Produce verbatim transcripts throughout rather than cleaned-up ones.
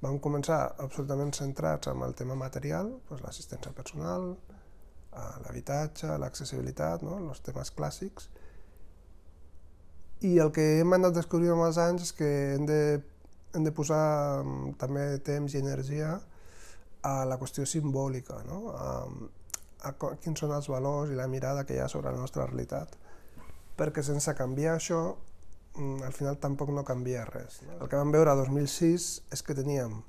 vam començar absolutament centrats en el tema material, doncs l'assistència personal, l'habitatge, l'accessibilitat, no? Els temes clàssics. I el que hem anat descobrint amb els anys és que hem de, hem de posar també temps i energia a la qüestió simbòlica, no? a, a quins són els valors i la mirada que hi ha sobre la nostra realitat. Perquè sense canviar això, al final tampoc no canvia res. El que vam veure a dos mil sis és que teníem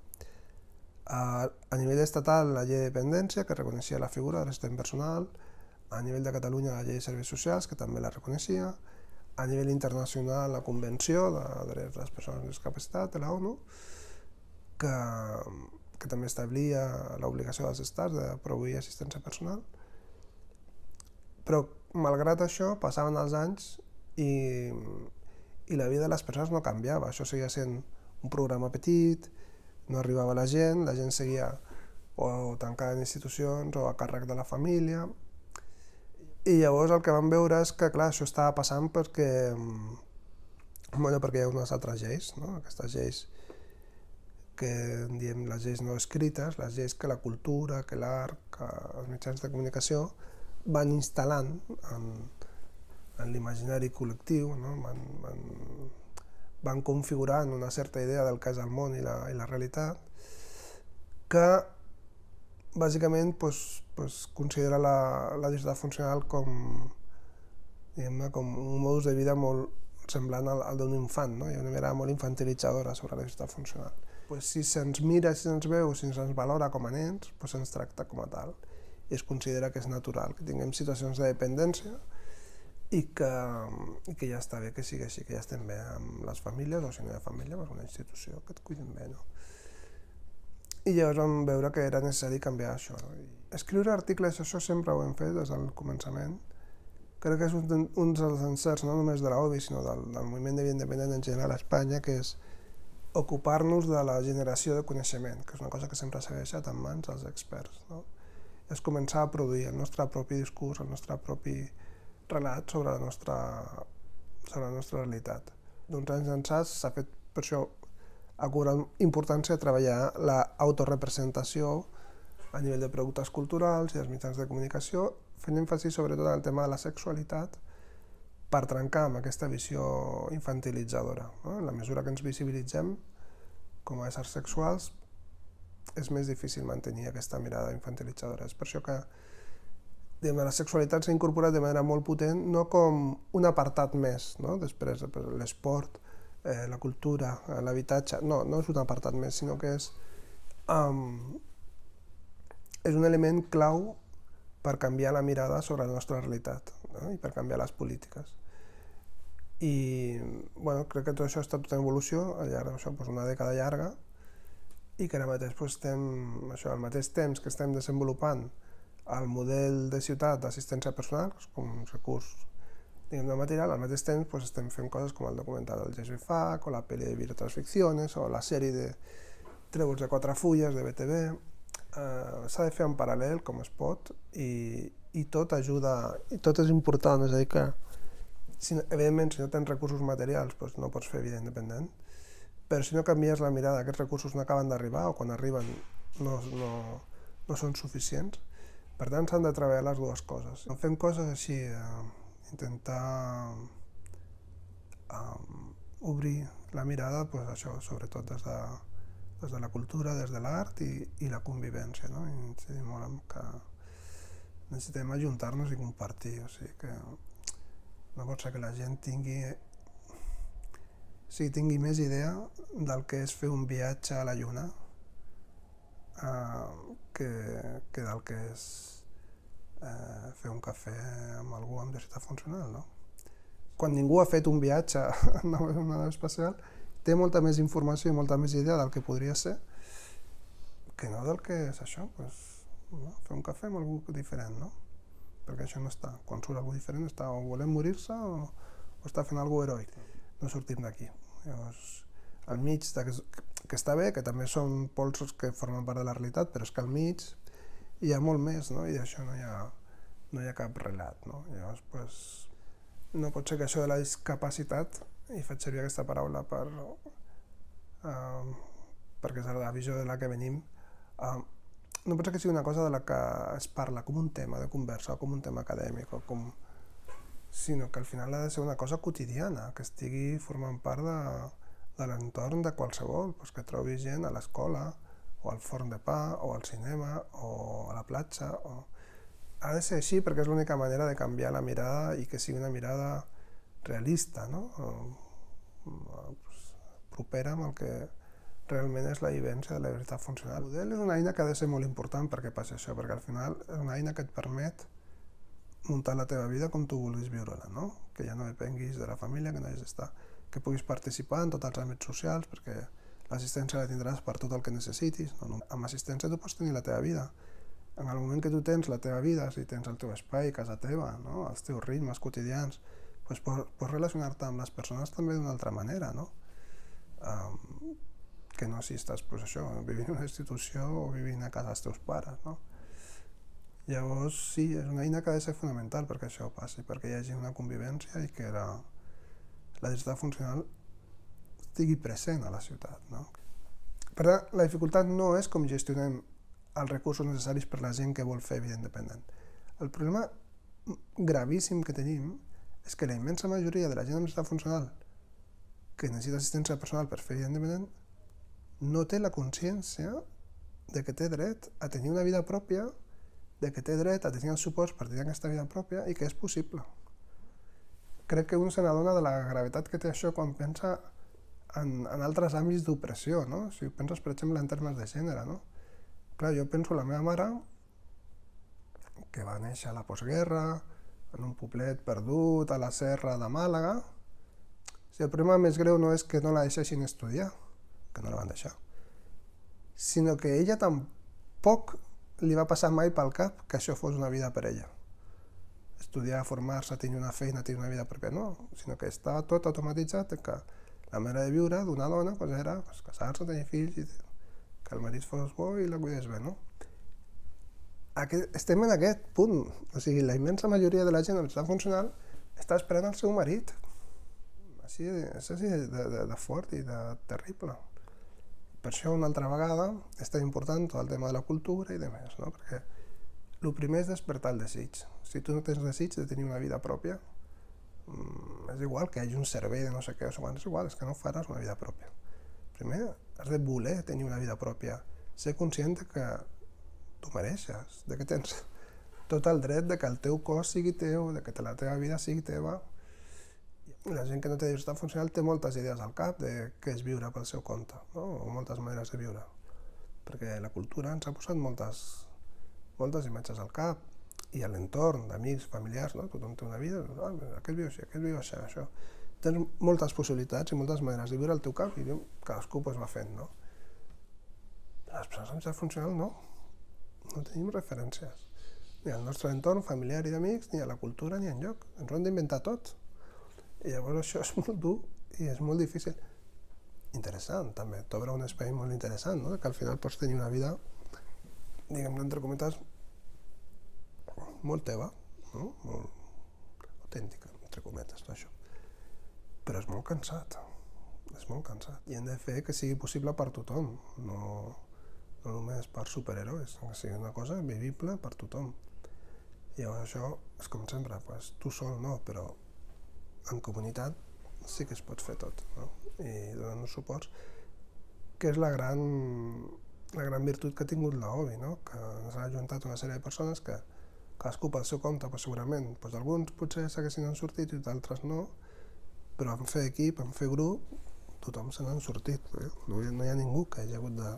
a, a nivell estatal la llei de dependència, que reconeixia la figura de l'assistent personal, a nivell de Catalunya la llei de serveis socials, que també la reconeixia, a nivell internacional la Convenció de Drets de les Persones amb Discapacitat de la ONU, que, que també establia l'obligació dels estats de proveir assistència personal. Però, malgrat això, passaven els anys i, i la vida de les persones no canviava. Això seguia sent un programa petit, no arribava la gent, la gent seguia o tancada en institucions o a càrrec de la família. I llavors el que vam veure és que, clar, això estava passant perquè, bueno, perquè hi ha unes altres lleis, no? Aquestes lleis que en diem les lleis no escrites, les lleis que la cultura, que l'art, que els mitjans de comunicació van instal·lant en, en l'imaginari col·lectiu, no? van, van, van configurant una certa idea del que és el món i la, i la realitat, que bàsicament pues, pues, considera la, la diversitat funcional com, com un modus de vida molt semblant al, al d'un infant, no? Hi ha una mirada molt infantilitzadora sobre la diversitat funcional. Pues, si se'ns mira, si se'ns veu, si se'ns valora com a nens, pues, se'ns tracta com a tal. I es considera que és natural, que tinguem situacions de dependència i que, i que ja està bé que sigui així, que ja estem bé amb les famílies, o si no hi ha família, pues una institució que et cuidin bé, no? I llavors vam veure que era necessari canviar això. Escriure articles, això sempre ho hem fet des del començament. Crec que és un, un dels encerts, no només de l'O B I, sinó del, del moviment de vida independent en general a Espanya, que és ocupar-nos de la generació de coneixement, que és una cosa que sempre s'ha deixat en mans dels experts, no? És començar a produir el nostre propi discurs, el nostre propi relat sobre la nostra, sobre la nostra realitat. D'uns anys ençà s'ha fet per això ha cobrat importància treballar l'autorepresentació a nivell de productes culturals i dels mitjans de comunicació, fent èmfasi sobretot en el tema de la sexualitat per trencar amb aquesta visió infantilitzadora, no? En la mesura que ens visibilitzem com a éssers sexuals, és més difícil mantenir aquesta mirada infantilitzadora. És per això que la sexualitat s'ha incorporat de manera molt potent, no com un apartat més, no? Després l'esport, eh, la cultura, l'habitatge, no, no és un apartat més, sinó que és, um, és un element clau per canviar la mirada sobre la nostra realitat, no? I per canviar les polítiques. I bueno, crec que tot això ha estat tota evolució al llarg d'això, doncs una dècada llarga, i que ara mateix doncs, estem, això, al mateix temps que estem desenvolupant el model de ciutat d'assistència personal, com un recurs diguem, de material, al mateix temps doncs, estem fent coses com el documental del Jesús Fac, o la pel·li de Vietas Ficciones, o la sèrie de Trèvols de quatre fulles de B T V. Eh, S'ha de fer en paral·lel, com es pot, i, i tot ajuda, i tot és important, és a dir que, si, evidentment, si no tens recursos materials, doncs no pots fer vida independent, però si no canvies la mirada, aquests recursos no acaben d'arribar, o quan arriben no, no, no són suficients. Per tant, s'han de treballar les dues coses. Fem coses així, eh, intentar um, obrir la mirada, pues, això, sobretot des de, des de la cultura, des de l'art i, i la convivència, no? I incidim molt en que necessitem ajuntar-nos i compartir, o sigui que no pot ser que la gent tingui, o sigui, tingui més idea del que és fer un viatge a la Lluna eh, que, que del que és eh, fer un cafè amb algú amb diversitat funcional, no? Quan ningú ha fet un viatge en una nau espacial, té molta més informació i molta més idea del que podria ser que no del que és això, pues, no? Fer un cafè amb algú diferent, no? Perquè això no està. Quan surt algú diferent està o volent morir-se o, o està fent alguna cosa heroic. No sortim d'aquí. Llavors, al mig, de, que està bé, que també són polsos que formen part de la realitat, però és que al mig hi ha molt més, no? I d'això no hi ha, no hi ha cap relat, no? Llavors, pues, no pot ser que això de la discapacitat, i faig servir aquesta paraula per, eh, perquè és la visió de la que venim, uh, no pot ser que sigui una cosa de la que es parla com un tema de conversa o com un tema acadèmic, o com... sinó que al final ha de ser una cosa quotidiana, que estigui formant part de, de l'entorn de qualsevol, doncs que trobis gent a l'escola, o al forn de pa, o al cinema, o a la platja. O... Ha de ser així perquè és l'única manera de canviar la mirada i que sigui una mirada realista, no? Propera amb el que realment és la vivència de la veritat funcional. El model és una eina que ha de ser molt important perquè passi això, perquè al final és una eina que et permet muntar la teva vida com tu vulguis viure-la, no? Que ja no depenguis de la família, que no hagis d'estar, que puguis participar en tots els àmbits socials, perquè l'assistència la tindràs per tot el que necessitis. No? Amb assistència tu pots tenir la teva vida. En el moment que tu tens la teva vida, si tens el teu espai, casa teva, no? Els teus ritmes quotidians, doncs pots, pots relacionar-te amb les persones també d'una altra manera, no? Um, que no si estàs, pues això, vivint en una institució o vivint a casa dels teus pares, no? Llavors, sí, és una eina que ha de ser fonamental perquè això passi, perquè hi hagi una convivència i que la, la diversitat funcional estigui present a la ciutat, no? Per tant, la dificultat no és com gestionem els recursos necessaris per la gent que vol fer vida independent. El problema gravíssim que tenim és que la immensa majoria de la gent amb diversitat funcional que necessita assistència personal per fer vida independent no té la consciència de que té dret a tenir una vida pròpia, de que té dret a tenir els suports per tenir aquesta vida pròpia i que és possible. Crec que un se n'adona de la gravetat que té això quan pensa en, en altres àmbits d'opressió, no? Si penses, per exemple, en termes de gènere, no? Clar, jo penso en la meva mare, que va néixer a la postguerra, en un poblet perdut a la serra de Màlaga. Si el problema més greu no és que no la deixessin estudiar, que no la van deixar, sinó que ella tampoc li va passar mai pel cap que això fos una vida per ella. Estudiar, formar-se, tenir una feina, tenir una vida pròpia, no, sinó que estava tot automatitzat, que la manera de viure d'una dona pues, era pues, casar-se, tenir fills, i que el marit fos bo i la cuidés bé, no? Aquest, estem en aquest punt, o sigui, la immensa majoria de la gent amb diversitat funcional està esperant el seu marit. Així, és així de, de, de fort i de terrible. Per això, una altra vegada, és tan important tot el tema de la cultura i de més, no? Perquè el primer és despertar el desig. Si tu no tens desig de tenir una vida pròpia, és igual que hi hagi un servei de no sé què, o és igual, és que no faràs una vida pròpia. Primer, has de voler tenir una vida pròpia, ser conscient que tu mereixes, de que tens tot el dret de que el teu cos sigui teu, de que la teva vida sigui teva. La gent que no té diversitat funcional té moltes idees al cap de què és viure pel seu compte, no? O moltes maneres de viure, perquè la cultura ens ha posat moltes, moltes imatges al cap i a l'entorn d'amics, familiars, no? Tothom té una vida, ah, aquest viu així, aquest viu així, això. Tens moltes possibilitats i moltes maneres de viure al teu cap i cadascú pues, va fent, no? Les persones amb diversitat funcional no, no tenim referències, ni al nostre entorn familiar i d'amics, ni a la cultura, ni enlloc, ens ho hem d'inventar tot. I llavors això és molt dur i és molt difícil. Interessant, també. T'obre un espai molt interessant, no? Que al final pots tenir una vida, diguem-ne, entre cometes, molt teva, no? Molt autèntica, entre cometes, tot això. Però és molt cansat, és molt cansat. I hem de fer que sigui possible per tothom, no, no només per superherois, que sigui una cosa vivible per tothom. I llavors això és com sempre, pues, tu sol no, però en comunitat sí que es pot fer tot, no? I donant uns suports, que és la gran, la gran virtut que ha tingut la O B I, no? Que ens ha ajuntat una sèrie de persones que cadascú pel seu compte, pues, segurament, pues, alguns potser s'haguessin sortit i d'altres no, però en fer equip, en fer grup, tothom se n'ha sortit. Eh? No, no hi ha ningú que hagi hagut de,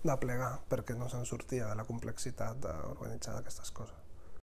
de plegar perquè no se'n sortia de la complexitat d'organitzar aquestes coses.